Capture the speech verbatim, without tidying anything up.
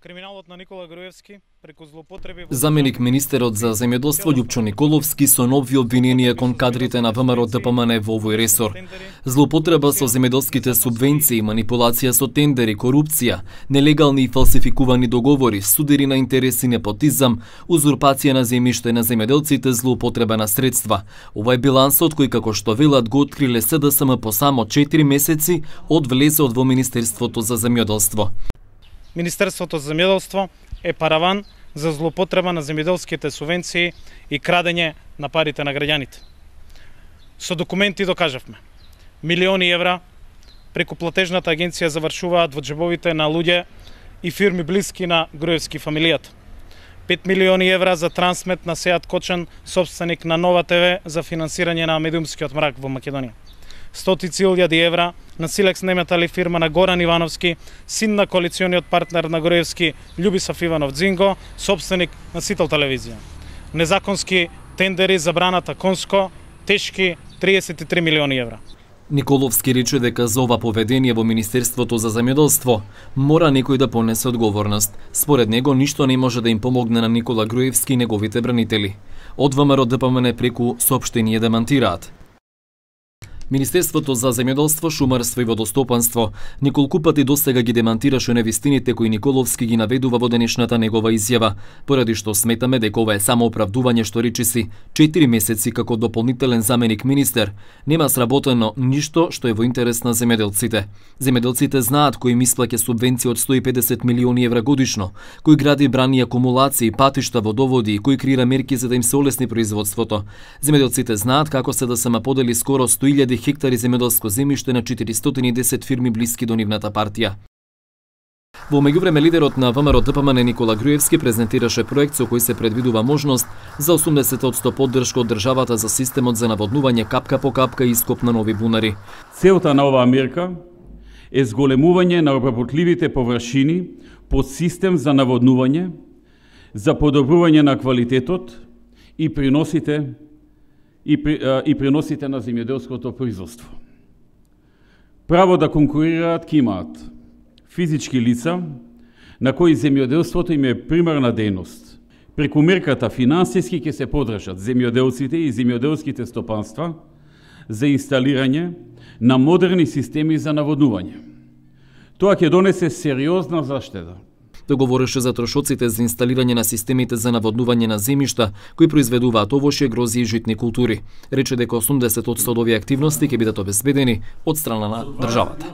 Криминалот на Никола Груевски преку злоупотреби. Заменик министерот за земјоделство Љупчо Николовски со нови обвиненија кон кадрите на ВМРО Д П М Н во овој ресор. Злоупотреба со земјоделските субвенции, манипулација со тендери, корупција, нелегални и фалсификувани договори, судери на интереси, непотизам, узурпација на земјиште на земјоделците, злоупотреба на средства. Ова е билансот кој, како што велат, го откриле С Д С М по само четири месеци од влезот во Министерството за земјоделство. Министерството за земјоделство е параван за злоупотреба на земјоделските субвенции и крадење на парите на граѓаните. Со документи докажавме. Милиони евра преку платежната агенција завршуваат во џебовите на луѓе и фирми блиски на Груевски фамилијата. пет милиони евра за трансмет на Сеат Кочан, собственик на Нова Т В, за финансирање на медиумскиот мрак во Македонија. Стотици илјади евра на Силекс Неметали, фирма на Горан Ивановски, син на коалициониот партнер на Груевски Љубисав Иванов Дзинго, собственик на Сител телевизија. Незаконски тендери за браната Конско, тешки триесет и три милиони евра. Николовски рече дека за ова поведение во Министерството за земјоделство мора некој да понесе одговорност. Според него ништо не може да им помогне на Никола Груевски и неговите бранители. Од В М Р Д П М Н преку соопштение демантираат. Министерството за земјоделство, шумарство и водостопанство неколку пати досега ги демантираше невистините кои Николовски ги наведува во денешната негова изјава, поради што сметаме дека ова е само оправдување што речиси четири месеци како дополнителен заменик министер нема сработено ништо што е во интерес на земјоделците. Земјоделците знаат кој им исплаќа субвенции од сто и педесет милиони евра годишно, кој гради брани акумулации, патишта, водоводи и кој креира мерки за да им се олесни производството. Земјоделците знаат како С Д С М подели скоро сто илјади хектари земјоделско земјиште на четиристотини и десет фирми блиски до нивната партија. Во меѓувреме лидерот на В М Р Д П М Н Никола Груевски презентираше проект со кој се предвидува можност за осумдесет одсто поддршка од државата за системот за наводнување капка по капка и ископ на нови бунари. Целта на оваа мерка е зголемување на обработливите површини под систем за наводнување, за подобрување на квалитетот и приносите и, при, и приносите на земјоделското производство. Право да конкурираат ќе имаат физички лица на кои земјоделството им е примарна дејност. Преку мерката финансиски ќе се поддржат земјоделците и земјоделските стопанства за инсталирање на модерни системи за наводнување. Тоа ќе донесе сериозна заштеда. Договореше за трошоците за инсталирање на системите за наводнување на земјишта кои произведуваат овошје, грози и житни култури. Рече дека осумдесет одсто од овие активности ќе бидат обезбедени од страна на државата.